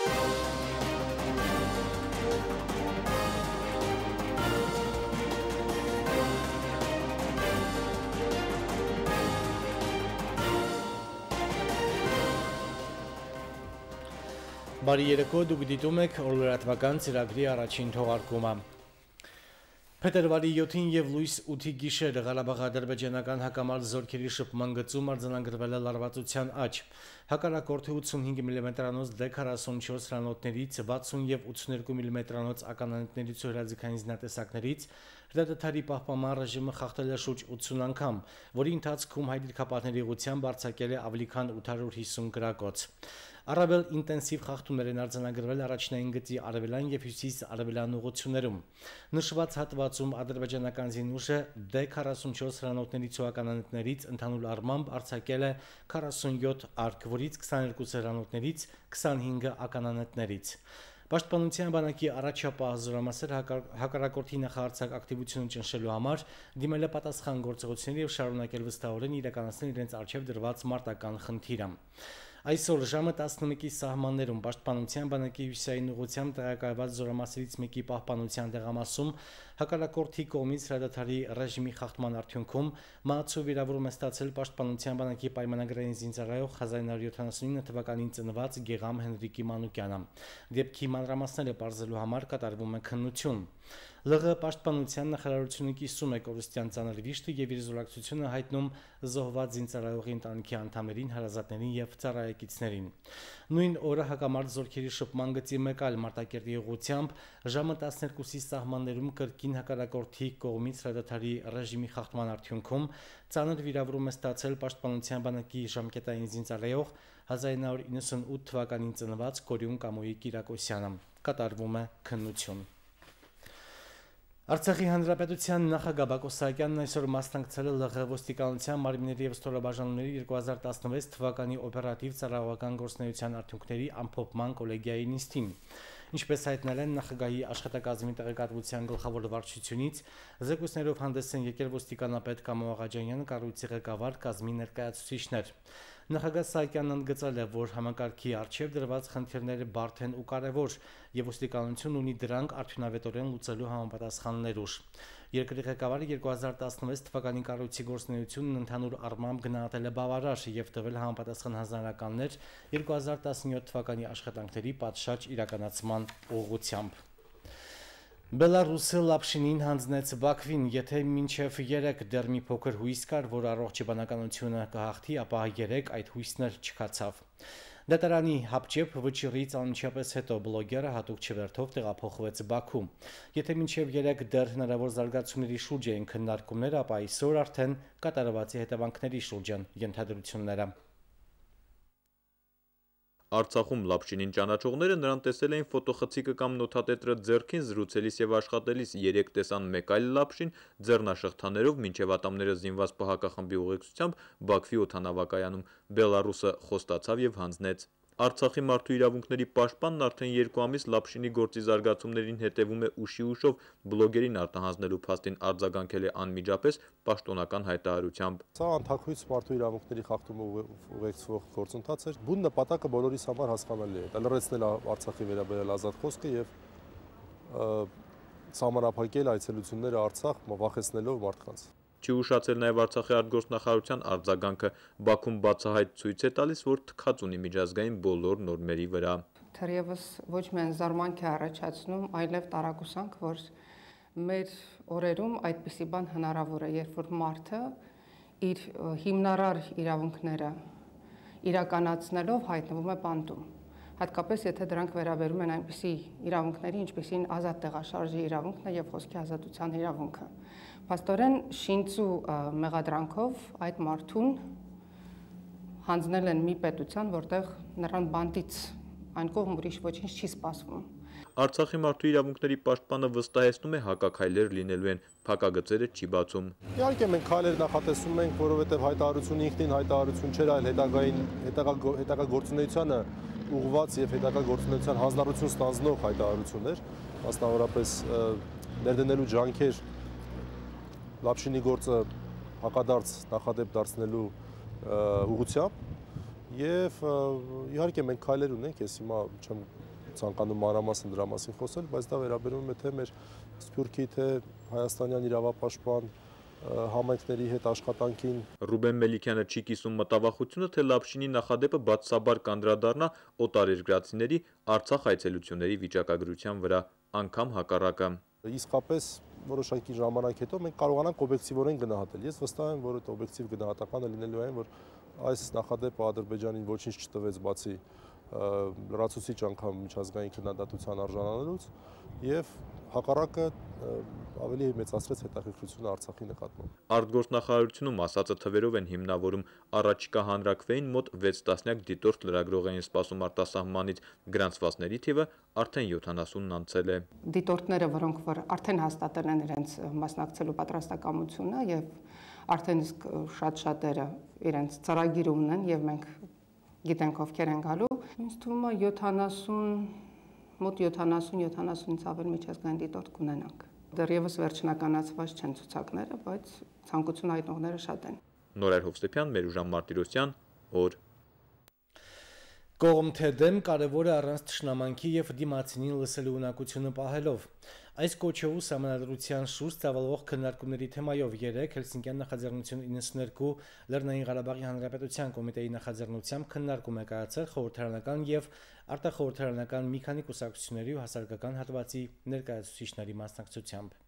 Բարի երեկո, դուք դիտում եք օրլրատվական ծրագրի առաջին թողարկումը։ Փետրվարի 7-ին եւ լույս 8-ի գիշերը Ղարաբաղ-ադրբեջանական հակամարտ զորքերի շփման գծում արձանագրվել է լարվածության աճ։ Հակառակորդի 85 մմ-անոց D44 հրանոթներից 60 եւ 82 մմ-անոց ականանետներից ու հրաձգային զինատեսակներից հրադադարի պահպանման ռեժիմը խախտել է շուրջ 80 անգամ, որի ընթացքում հայ դիրքապահների ուղղությամբ արձակել է ավելի քան 850 գրակոց։ Առավել ինտենսիվ խախտումներ են արձանագրվել առաջնային գծի արևելյան եւ հյուսիս-արևելյան ուղղություններում։ Նշված հատվածում ադրբեջանական զինուժը D44 հրանոթներից ու ականանետներից ընդհանուր առմամբ արձակել է 47 արկ, որից 22 հրանոթներից, 25-ը ականանետներից։ Պաշտպանության բանակի առաջապահ զորամասեր հակառակորդի նախահարձակ ակտիվությունը ճնշելու համար դիմել է պատասխան գործողությունների եւ շարունակել վստահորեն իրականացնել իրենց առջեւ դրված մարտական խնդիրը։ Այսօր ժամը 11-ի սահմաններում Պաշտպանության բանակի հյուսիսային ուղղությամբ տեղակայված զորամասերից մեկի պահպանության տեղամասում հակառակորդի կողմից հրադադարի ռեժիմի խախտման արդյունքում մահացու վիրավորում է ստացել Պաշտպանության բանակի պայմանագրային զինծառայող 1979 թվականին ծնված Գեգամ Հենրիկի Մանուկյանը։ Դեպքի մանրամասները պարզելու համար կատարվում է քննություն։ ԼՂ պաշտպանության նախարարությունը կիսում է կորուստյան ծանր վիշտը եւ իր զորակցությունը հայտնում զոհված զինծառայողի ընտանիքի անդամներին, հարազատներին եւ ծառայեկիցներին։ Նույն օրը հակամարտ զորքերի շփման գծի մեկ այլ Մարտակերտի ուղղությամբ ժամը 12-ի սահմաններում կրկին հակառակորդի կողմից հրադադարի ռեժիմի խախտման արդյունքում ծանր վիրավորում է ստացել Պաշտպանության բանակի ժամկետային զինծառայող 1998 թվականին ծնված Կորյուն Կամոյի Կիրակոսյանը։ Կատարվում է քննություն։ Արցախի հանրապետության նախագահ Բակո Սահակյանն այսօր մասնակցել է ԼՂ ոստիկանության մարմինների եւ ստորաբաժանումների 2016 թվականի օպերատիվ ծառայողական գործունեության արդյունքների ամփոփման կոլեգիայի նիստին։ Ինչպես հայտնել են նախագահի աշխատակազմի տեղեկատվության գլխավոր վարչությունից, զեկույցներով հանդես են եկել ոստիկանապետ Կամո Աղաջանյանը, կառույցի ղեկավար, կազմի ներկայացուցիչներ։ Նախագահ Սահակյանն ընդգծել է, որ համակարգի առջև դրված խնդիրները բարդ են ու կարևոր, եւ ոստիկանությունն ունի դրանք արդյունավետորեն լուծելու համապատասխան ներուժ։ Երկրի ղեկավարը 2016 թվականի կառույցի գործունեությունն ընդհանուր առմամբ գնահատել է բավարար եւ տվել համապատասխան հանձնարարականներ 2017 թվականի աշխատանքների պատշաճ իրականացման ուղղությամբ։ Բելարուսը Լապշինին հանձնեց Բաքվին, եթե մինչև 3 դեռ մի փոքր հույս կար, որ առողջ բանականությունը կհաղթի, ապա 3 այդ հույսն էլ չքացավ։ Դատարանի հապճեպ վճիռից անմիջապես հետո բլոգերը հատուկ չվերթով տեղափոխվեց Բաքու։ Եթե մինչև 3 դեռ հնարավոր զարգացումների շուրջ էին քննարկումները, ապա այսօր արդեն կատարվածի հետևանքների շուրջ են ենթադրությունները։ Արցախում Լապշինին ճանաչողները նրան տեսել էին ֆոտոխցիկը կամ նոթատետրը ձեռքին զրուցելիս եւ աշխատելիս, 3 տեսան մեկ այլ Լապշին ձեռնաշղթաներով մինչեւ ատամները զինված ՊՀԿ-խմբի ուղեկցությամբ Բաքվի օդանավակայանում։ Բելարուսը խոստացավ եւ հանձնեց։ Արցախի մարդու իրավունքների պաշտպանն արդեն 2 ամիս Լապշինի գործի զարգացումներին հետևում է ուշի ուշով, բլոգերին արտահանձնելու փաստին արձագանքել է անմիջապես պաշտոնական հայտարարությամբ։ Սա անթաքույց մարդու իրավունքների խախտումը ուղեկցող գործընթաց էր։ Բուն նպատակը բոլորիս համար հասկանալի է՝ լրացնել Արցախի վերաբերյալ ազատ խոսքը եւ սահմանափակել այցելությունները Արցախ, վախեցնելով մարդկանց։ Չի ուշացել նաև Արցախի արտգործնախարարության արձագանքը։ Բաքուն բացահայտ ցույց է տալիս, որ թքած ունի միջազգային բոլոր նորմերի վրա։ Թերևս ոչ միայն զարմանք է առաջացնում, այլև տարակուսանք, որ մեր օրերում այդպիսի բան հնարավոր է, երբ որ մարդը իր հիմնարար իրավունքները իրականացնելով հայտնվում է բանտում։ Հատկապես եթե դրանք վերաբերում են այնպիսի իրավունքների, ինչպիսին ազատ տեղաշարժի իրավունքն է եւ խոսքի ազատության իրավունքը։ Փաստորեն շինծու մեղադրանքով այդ մարդուն հանձնել են մի պետության, որտեղ նրան բանտից այն կողմ ուրիշ ոչինչ չի սպասվում։ Արցախի մարդու իրավունքների պաշտպանը վստահեցնում է հակաքայլեր լինելու են, փակագծերը չի բացում։ Իհարկե մենք քայլեր նախատեսում ենք, որովհետև հայտարարությունը ինքնին հայտարարություն չէր, այլ հետագա գործունեությանը ուղղված եւ հետագա գործունեության հանձնառություն ստանձնող հայտարարություններ, մասնավորապես ներդնելու ջանքեր Լապշինի գործը հակադարձ նախադեպ դարձնելու ուղղությամբ եւ իհարկե մենք քայլեր ունենք, ես հիմա չեմ ցանկանում մանրամասն դրա մասին խոսել, բայց դա վերաբերում է թե մեր Սփյուռքի, թե հայաստանյան իրավապաշտպան համայնքների հետ աշխատանքին։ Ռուբեն Մելիքյանը չի կիսում մտավախությունը, թե Լապշինի նախադեպը բացասաբար կանդրադառնա օտարերկրացիների Արցախ այցելությունների վիճակագրության վրա, անգամ հակառակը։ Իսկապես որոշակի ժամանակ հետո մենք կարողանանք օբյեկտիվորեն գնահատել։ Ես վստահ եմ, որ այդ օբյեկտիվ գնահատականը լինելու այն, որ այս նախադեպը Ադրբեջանին ոչինչ չտվեց բացի լրացուցիչ անգամ միջազգային քննադատության արժանանալուց եւ հակառակը ավելի մեծացրեց հետաքրքրությունը Արցախի նկատմամբ։ Արտգործնախարարությունում ասածը թվերով են հիմնավորում, առաջիկա հանրաքվեին մոտ 6 տասնյակ դիտորդ լրագրող էին սպասում արտասահմանից, գրանցվածների թիվը արդեն 70-ն անցել է։ Դիտորդները, որոնք որ արդեն հաստատել են իրենց մասնակցելու պատրաստակամությունը եւ արդեն իսկ շատ-շատերը իրենց ծրագիր ունեն եւ մենք գիտենք ովքեր են գալու, ինձ թվում է 70 մոտ 70-70-ից ավել միջազգային դիտորդ կունենանք։ Դեռևս վերջնականացված չեն ցուցակները, բայց ցանկություն հայտնողները շատ են։ Նորայր Հովսեփյան, Մերուժան Մարտիրոսյան, օր։ Կողմ թե դեմ կարևոր է առանց թշնամանքի եւ դիմացինին լսելու ունակությունը պահելով։ Այս կոչով սահմանադրության շուրջ ծավալվող քննարկումների թեմայով 3 Հելսինկյան նախաձեռնություն 92 Լեռնային Ղարաբաղի Հանրապետության կոմիտեի նախաձեռնությամբ քննարկում է կայացել խորհրդարանական եւ արտախորհրդարանական մի քանի կուսակցությունների ու հասարակական հատվածի ներկայացուցիչների մասնակցությամբ։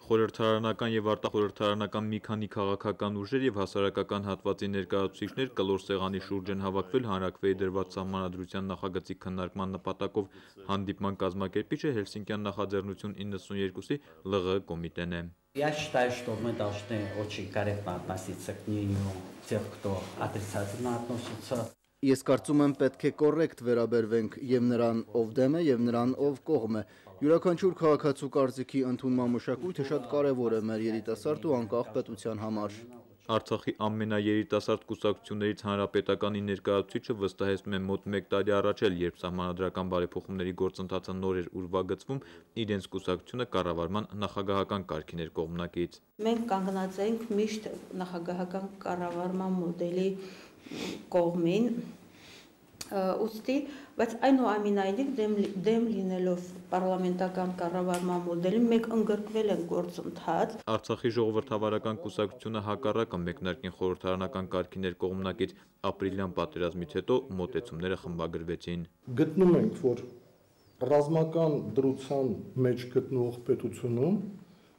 Խորհրդարանական եւ արտախորհրդարանական մի քանի քաղաքական ուժեր եւ հասարակական հատվածի ներկայացուցիչներ կլոր սեղանի շուրջ են հավաքվել հանրաքվեի դրված սահմանադրության նախագծի քննարկման նպատակով։ Հանդիպման կազմակերպիչը Հելսինկյան նախաձեռնություն 92-ի ԼՂՀ կոմիտեն է։ Я считаю, что мы должны очень корректно относиться к мнению тех, кто отрицательно относится. Ես կարծում եմ պետք է կոռեկտ վերաբերվենք եւ նրան, ով դեմ է, եւ նրան, ով կողմ է։ Յուրաքանչյուր քաղաքացու կարծիքի ընդունման մշակույթը շատ կարեւոր է մեր երիտասարդ ու անկախ պետության համար։ Արցախի ամենաերիտասարդ կուսակցություններից Հանրապետականի ներկայացուցիչը վստահեցնում է մոտ 1 տարի առաջ էլ, երբ սահմանադրական բարեփոխումների գործընթացը նոր էր ուրվագծվում, իրենց կուսակցությունը կառավարման նախագահական կարգին էր կողմնակից։ Մենք կանգնած ենք միշտ նախագահական կառավարման մոդելի կողմին, ուստի, բայց այնուամենայնիվ դեմ լինելով պարլամենտական կառավարման մոդելին մենք ընդգրկվել ենք գործընթաց։ Արցախի ժողովրդավարական կուսակցությունը հակառակը մեկնարկին խորհրդարանական կարգիներ կողմնակից ապրիլյան պատերազմից հետո մոտեցումները խմբագրվեցին։ Գտնում ենք, որ ռազմական դրության մեջ գտնվող պետությունում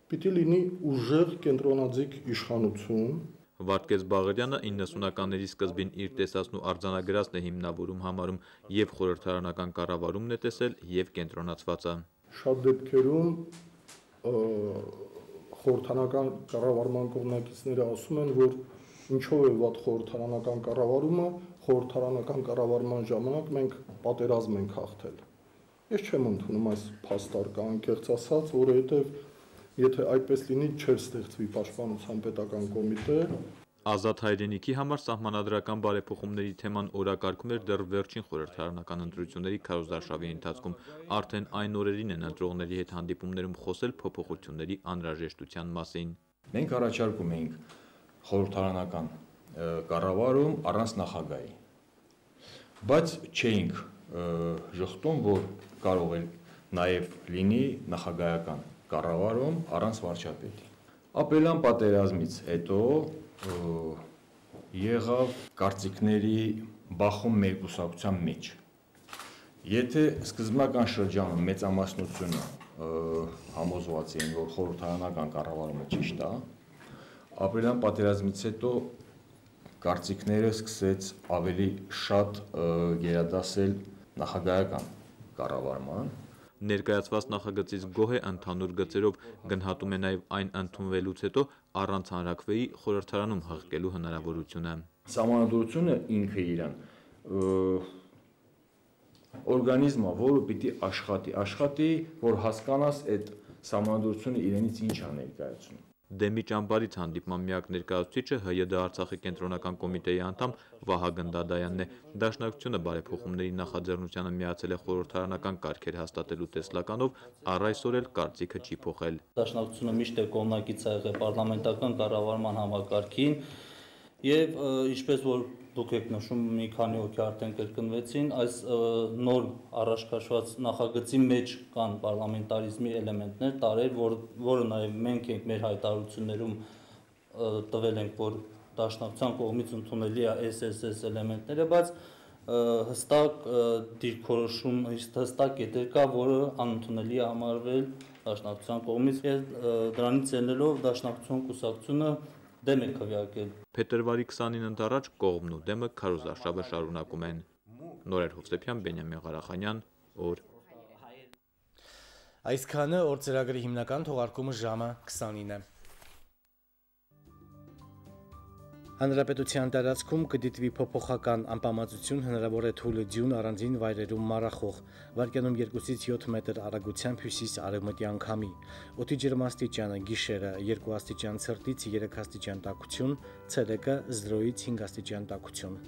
պիտի լինի ուժեղ կենտրոնաձիգ իշխանություն։ Վարդգես Բաղարյանը 90-ականների սկզբին իր տեսածն ու արձանագրածն է հիմնավորում համարում եւ խորհրդարանական կառավարումն է տեսել եւ կենտրոնացվածը։ Շատ դեպքերում խորհրդարանական կառավարման կողմնակիցները ասում են, որ ինչով է վատ խորհրդարանական կառավարումը, խորհրդարանական կառավարման ժամանակ մենք պատերազմ ենք հաղթել։ Ես չեմ ընդունում այս փաստարկը, անկեղծ ասած, որովհետեւ եթե այդպես լինի, չէր ստեղծվի պաշտպանության պետական կոմիտե։ Ազատ հայրենիքի համար սահմանադրական բարեփոխումների թեման օրակարգում էր դեռ վերջին խորհրդարանական ընտրությունների քարոզարշավի ընթացքում։ Արդեն այն օրերին են ընտրողների հետ հանդիպումներում խոսել փոփոխությունների անհրաժեշտության մասին։ Մենք առաջարկում էինք խորհրդարանական կառավարում առանց նախագահի, բայց չէինք ժխտում, որ կարող է նաև լինի նախագահական կառավարում առանց վարչապետի։ Ապրիլյան պատերազմից հետո եղավ կարծիքների բախում մեր կուսակցության մեջ։ Եթե սկզբնական շրջանում մեծամասնությունը համոզված էին, որ խորհրդարանական կառավարումը ճիշտ է, ապրիլյան պատերազմից հետո կարծիքները սկսեց ավելի շատ գերադասել նախագահական կառավարման։ Ներկայացված նախագծից գոհ է ընդհանուր գծերով, գնահատում է նաև այն ընդունվելուց հետո առանց հանրաքվեի խորհրդարանում հղկելու հնարավորությունը։ Սահմանադրությունը ինքը իրան օրգանիզմը, որը պիտի աշխատի, որ հասկանաս այդ սահմանադրությունը իրենից ինչ է ներկայացնում։ Դեմի ճամբարից հանդիպման միակ ներկայացուցիչը ՀՅԴ Արցախի կենտրոնական կոմիտեի անդամ Վահագն Դադայանն է։ Դաշնակցությունը բարեփոխումների նախաձեռնությանը միացել է խորհրդարանական կարգեր հաստատելու տեսլականով, առ այսօր էլ կարծիքը չի փոխել։ Դաշնակցությունը միշտ կողմնակից է եղել պարլամենտական կառավարման համակարգին եւ ինչպես որ դուք եք նշում մի քանի հոգի արդեն կրկնվեցին, այս նոր առաջ քաշված նախագծի մեջ կան պարլամենտարիզմի էլեմենտներ, տարեր, որը նաև մենք ենք մեր հայտարարություններում տվել ենք, որ դաշնակցության կողմից ընդունելի է SSS էլեմենտները, բայց հստակ դիրքորոշում, հստակ կետեր կա, որը անընդունելի է համարվել դաշնակցության կողմից, դրանից ելնելով դաշնակցության կուսակցությունը դեմ է քվեարկել։ Փետրվարի 29-ին ընդառաջ կողմն ու դեմը քարոզարշավը շարունակում են։ Նորեր Հովսեփյան, Բենյամին Ղարախանյան, օր։ Այսքանը օր ծրագրի հիմնական թողարկումը ժամը 29-ն է։ Հանրապետության տարածքում կդիտվի փոփոխական անպամացություն, հնարավոր է թույլ ձյուն առանձին վայրերում մառախող, վարկյանում 2-ից 7 մետր արագությամբ հյուսիս-արևմտյան քամի, օդի ջերմաստիճանը գիշերը 2 աստիճան ցրտից 3 աստիճան տաքություն, ցերեկը 0-ից 5 աստիճան տաքություն։